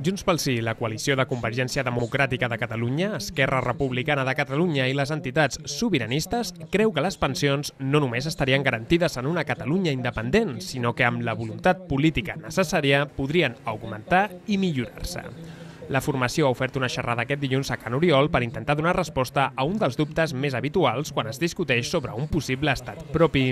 Junts pel Sí, la coalició de Convergència Democràtica de Catalunya, Esquerra Republicana de Catalunya i les entitats sobiranistes creu que les pensions no només estarien garantides en una Catalunya independent, sinó que amb la voluntat política necessària podrien augmentar i millorar-se. La formació ha ofert una xerrada aquest dilluns a Can Oriol per intentar donar resposta a un dels dubtes més habituals quan es discuteix sobre un possible estat propi.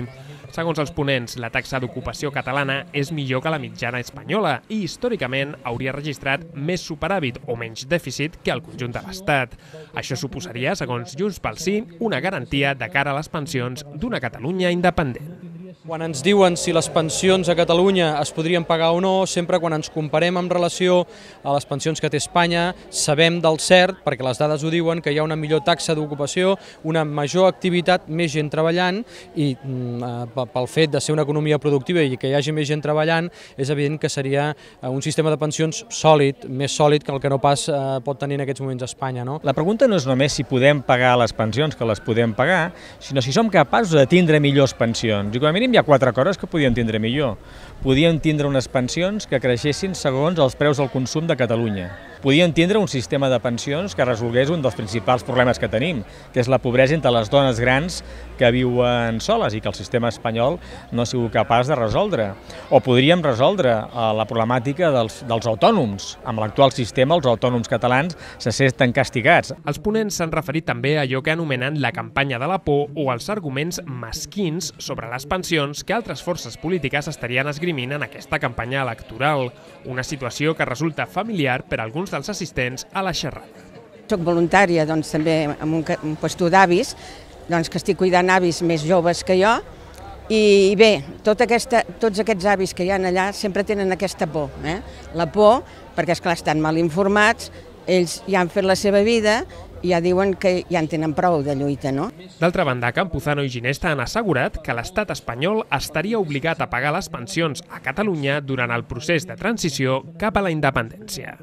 Segons els ponents, la taxa d'ocupació catalana és millor que la mitjana espanyola i històricament hauria registrat més superàvit o menys dèficit que el conjunt de l'Estat. Això suposaria, segons Junts pel Sí, una garantia de cara a les pensions d'una Catalunya independent. Quan ens diuen si les pensions a Catalunya es podrien pagar o no, sempre quan ens comparem en relació a les pensions que té Espanya, sabem del cert, perquè les dades ho diuen, que hi ha una millor taxa d'ocupació, una major activitat, més gent treballant, i pel fet de ser una economia productiva i que hi hagi més gent treballant, és evident que seria un sistema de pensions sòlid, més sòlid que el que no pas pot tenir en aquests moments Espanya. La pregunta no és només si podem pagar les pensions, que les podem pagar, sinó si som capaços de tindre millors pensions. I com a mínim hi ha 4 coses que podíem tindre millor. Podíem tindre unes pensions que creixessin segons els preus del consum de Catalunya. Podíem tindre un sistema de pensions que resolgués un dels principals problemes que tenim, que és la pobresa entre les dones grans que viuen soles i que el sistema espanyol no ha sigut capaç de resoldre. O podríem resoldre la problemàtica dels autònoms. Amb l'actual sistema, els autònoms catalans se senten castigats. Els ponents s'han referit també a allò que anomenen la campanya de la por o els arguments mesquins sobre les pensions que altres forces polítiques estarien esgrimint en aquesta campanya electoral, una situació que resulta familiar per a alguns dels assistents a la xerrada. Soc voluntària també en un puesto d'avis, que estic cuidant avis més joves que jo, i bé, tots aquests avis que hi ha allà sempre tenen aquesta por. La por, perquè esclar, estan mal informats, ells ja han fet la seva vida i ja diuen que ja en tenen prou de lluita, no? D'altra banda, Campuzano i Ginesta han assegurat que l'estat espanyol estaria obligat a pagar les pensions a Catalunya durant el procés de transició cap a la independència.